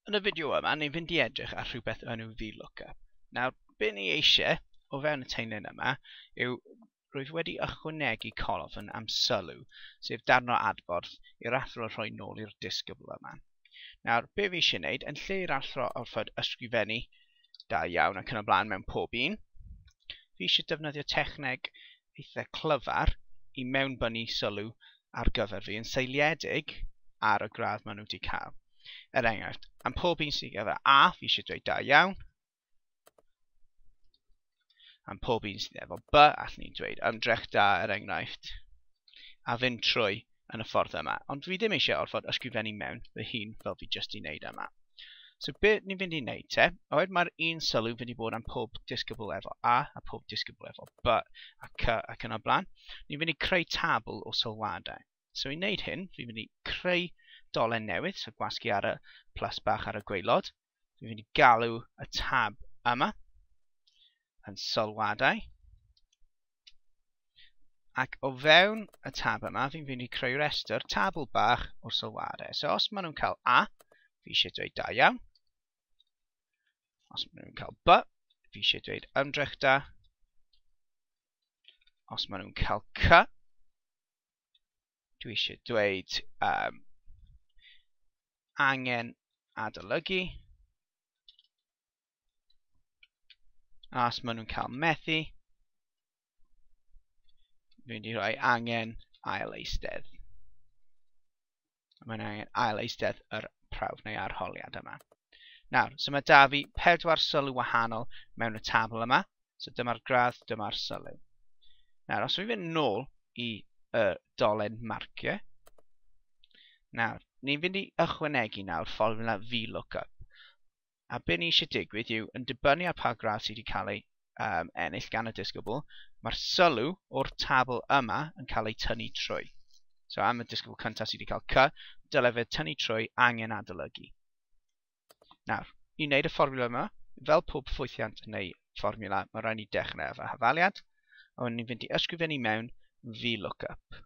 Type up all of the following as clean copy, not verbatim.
Yn y fideo yma, ni'n fynd i edrych ar rhywbeth enw VLOOKUP. Nawr, be ni eisiau o fewn y taenlen yma yw rwyf wedi ychwanegu colofn am sylw, sef darn o adborth i'r athro rhoi nôl i'r disgybl yma. Nawr, be fi eisiau gwneud, yn lle i'r athro orfod ysgrifennu da iawn ac yn y blaen mewn pob un, fi eisiau defnyddio techneg eitha clyfar i mewnbynnu sylw ar gyfer fi yn seiliedig ar y gradd maen nhw wedi cael. Er enghraifft, am pob un sydd efo A, fi eisiau dweud da iawn. Am pob un sydd efo B, allwn ni dweud ymdrech da, er enghraifft, a fynd trwy yn y ffordd yma. Ond fi ddim eisiau orfod ysgrifennu mewn fy hun fel fi jyst i wneud yma. So be ni'n fynd i wneud te, oherwydd mae'r un sylw fynd i bod am pob disgybl efo A a pob disgybl efo B a C ac yn y blaen, ni'n fynd i creu tabl o sylwadau. So i wneud hyn, fi'n mynd i creu dolen newydd, so gwasgu ar y plus bach ar y gwaelod. Fi'n mynd i galw y tab yma yn sylwadau. Ac o fewn y tab yma, fi'n fynd i creu rhestr tabl bach o'r sylwadau. So os maen nhw'n cael A, fi eisiau dweud da iawn. Os maen nhw'n cael B, fi eisiau dweud ymdrech da. Os maen nhw'n cael C, dwi eisiau dweud angen adolygu. A os maen nhw'n cael methu, dwi'n mynd i rhoi angen ail eistedd. Mae'n angen ail eistedd yr prawf neu arholiad yma. Nawr, so mae da fi 4 sylw wahanol mewn y tabl yma. So dyma'r gradd, dyma'r sylw. Nawr, os fi'n fynd nôl i y dolen marciau, nawr, ni'n fynd i ychwanegu nawr fformwla VLOOKUP. A be ni eisiau digwydd yw, yn dibynnu ar pa gradd sydd wedi cael ei ennill gan y disgybl, mae'r sylw o'r tabl yma yn cael ei tynnu trwy. So am y disgybl cyntaf sydd wedi cael C, dylai fe tynnu trwy angen adolygu. Nawr, i wneud y fformwla yma, fel pob ffwythiant neu fformwla, mae rhaid ni dechrau efo hafaliad, a wedyn ni'n fynd i ysgrifennu mewn VLOOKUP.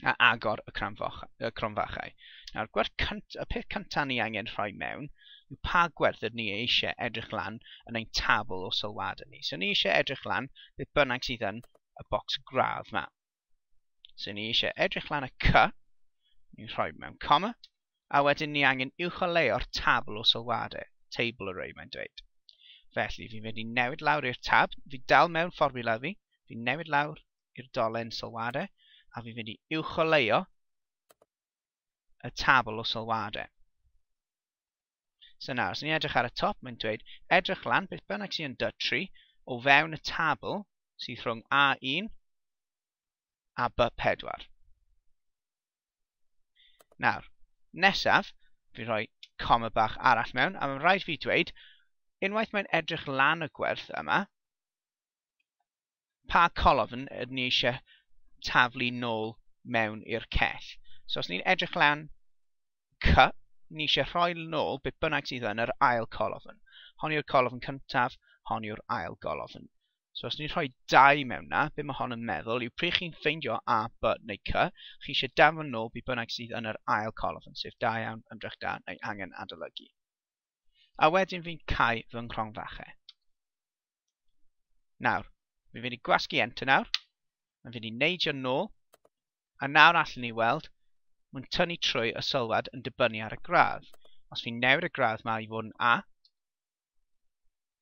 A agor y cromfachau. Nawr, y peth cyntaf ni angen rhoi mewn yw pa gwerth ydyn ni eisiau edrych lan yn ein tabl o sylwadau ni. So ni eisiau edrych lan beth bynnag sydd yn y bocs gradd yma. So ni eisiau edrych lan y C, ni'n rhoi mewn comma, a wedyn ni angen uwcholeuo'r tabl o sylwadau, table array mae'n dweud. Felly fi'n mynd i newid lawr i'r tab, fi dal mewn fformwla fi, fi'n newid lawr i'r dolen sylwadau, a fi'n mynd i uwcholeuo y tabl o sylwadau. So nawr, os ni'n edrych ar y top, mae'n dweud edrych lan beth bynnag sy'n yn D3 o fewn y tabl sydd rhwng A1 a B4. Nawr, nesaf, fi'n rhoi coma bach arall mewn, a mae'n rhaid fi dweud, unwaith mae'n edrych lan y gwerth yma, pa colofn ydyn ni eisiau taflu nôl mewn i'r cell. So os ni'n edrych lan C, ni eisiau rhoi nôl beth bynnag sydd yn yr ail colofn. Hon yw'r colofn cyntaf, hon yw'r ail golofn. So os ni'n rhoi 2 mewn na, be mae hon yn meddwl yw pryd chi'n ffeindio A, B neu C, chi eisiau danfon nôl beth bynnag sydd yn yr ail colofn, sef da iawn, ymdrech da neu angen adolygu. A wedyn fi'n cau fy nghromfachau. Nawr, fi'n mynd i gwasgu Enter nawr, mae'n fynd i neidio nôl, a nawr allwn ni weld, mae'n tynnu trwy y sylwad yn dibynnu ar y gradd. Os fi'n newid y gradd yma i fod yn A,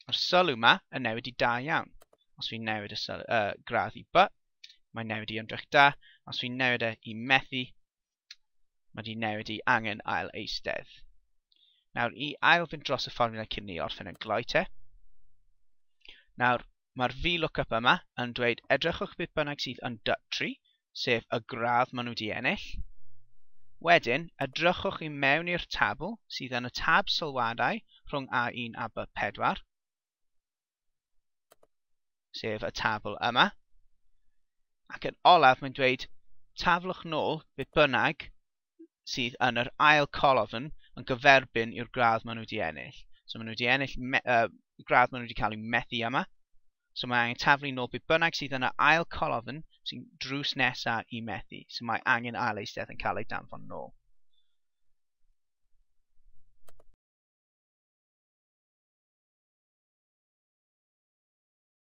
mae'r sylw yma yn newid i da iawn. Os fi'n newid y gradd i B, mae'n newid i ymdrech da. Os fi'n newid e i methu, mae di newid i angen ail eistedd. Nawr, i ail fynd dros y fformwla cyn ni orffen yn gloi te. Nawr, mae'r VLOOKUP yma yn dweud edrychwch beth bynnag sydd yn D3, sef y gradd maen nhw wedi ennill. Wedyn, edrychwch i mewn i'r tabl sydd yn y tab sylwadau rhwng A1 a B4, sef y tabl yma. Ac yn olaf, mae'n dweud taflwch nôl beth bynnag sydd yn yr ail colofn yn gyferbyn i'r gradd maen nhw wedi ennill. So maen nhw wedi ennill gradd maen nhw wedi cael eu methu yma. So mae angen taflu nôl beth bynnag sydd yn y ail colofn sy'n drws nesaf i methu. So mae angen ail eistedd yn cael ei danfon nôl.